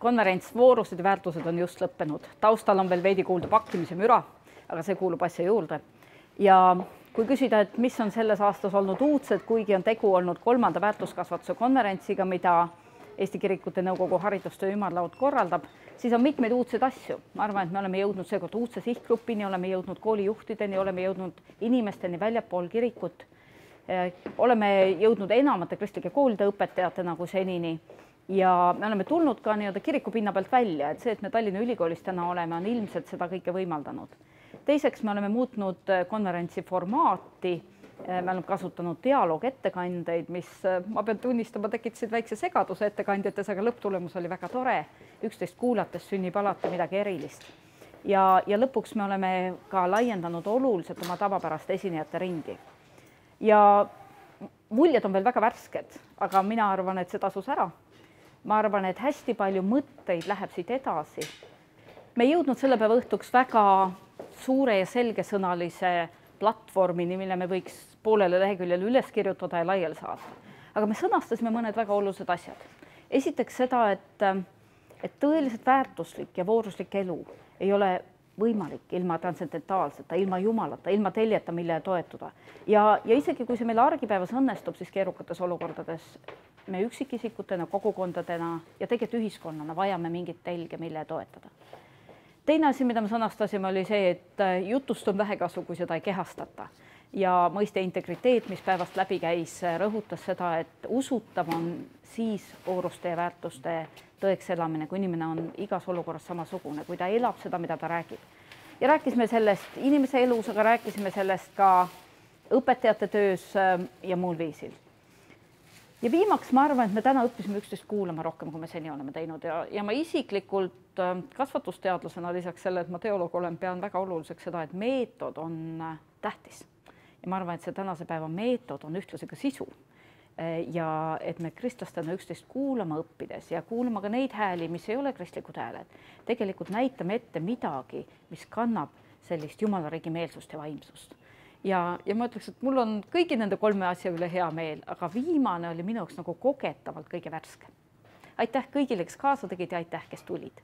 konverents Voorused ja väärtused on just lõppenud. Taustal on veel veidi kuulda pakkimise müra, aga see kuulub asja juurde. Ja kui küsida, et mis on selles aastas olnud uudsed, kuigi on tegu olnud 3. väärtuskasvatuse konverentsiga, mida Eesti Kirikute Nõukogu haridustöö ümarlaud korraldab, siis on mitmeid uudseid asju. Ma arvan, et me oleme jõudnud seekord uudse sihtgrupini, oleme jõudnud koolijuhtideni, oleme jõudnud inimesteni väljapool kirikut, oleme jõudnud enamate kristlike koolide õpetajatena kui senini ja me oleme tulnud ka kiriku pinna pealt välja, et see, et me Tallinna Ülikoolis täna oleme, on ilmselt seda kõike võimaldanud. Teiseks me oleme muutnud konverentsi formaati, me oleme kasutanud dialoog-ettekandeid, mis ma pean tunnistama, tekitasid väikse segaduse ettekandjates, aga lõpptulemus oli väga tore. Üksteist kuulates sünnib alati midagi erilist. Ja lõpuks me oleme ka laiendanud oluliselt oma tavapärast esinejate ringi. Ja muljed on veel väga värsked, aga mina arvan, et see tasus ära. Ma arvan, et hästi palju mõtteid läheb siit edasi. Me ei jõudnud selle päeva õhtuks väga suure ja selgesõnalise platvormini, mille me võiks poolele leheküljele üles kirjutada ja laiali saata. Aga me sõnastasime mõned väga olulised asjad. Esiteks seda, et tõeliselt väärtuslik ja vooruslik elu ei ole võimalik ilma transcendentaalseta, ilma Jumalata, ilma teljeta, mille toetuda. Ja isegi kui see meil argipäevas õnnestub, siis keerukates olukordades me üksikisikutena, kogukondadena ja tegelikult ühiskonnana vajame mingit telge, mille toetada. Teine asi, mida me sõnastasime, oli see, et jutust on vähekasu, kui seda ei kehastata. Ja mõiste integriteet, mis päevast läbi käis, rõhutas seda, et usutav on siis vooruste ja väärtuste tõeks elamine, kui inimene on igas olukorras samasugune, kui ta elab seda, mida ta räägib. Ja rääkisime sellest inimese elus, aga rääkisime sellest ka õpetajate töös ja muul viisil. Ja viimaks ma arvan, et me täna õppisime üksteist kuulama rohkem, kui me seni oleme teinud ja ma isiklikult kasvatusteadlasena lisaks selle, et ma teoloog olen, pean väga oluliseks seda, et meetod on tähtis. Ja ma arvan, et see tänase päeva meetod on ühtlasi ka sisu ja et me kristlastena üksteist kuulama õppides ja kuulama ka neid hääli, mis ei ole kristlikud hääled, tegelikult näitame ette midagi, mis kannab sellist Jumala riigi meelsust ja vaimsust. Ja ma ütleks, et mul on kõigi nende 3 asja üle hea meel, aga viimane oli minu jaoks nagu kogetavalt kõige värske. Aitäh kõigile, kes kaasa tegid ja aitäh, kes tulid.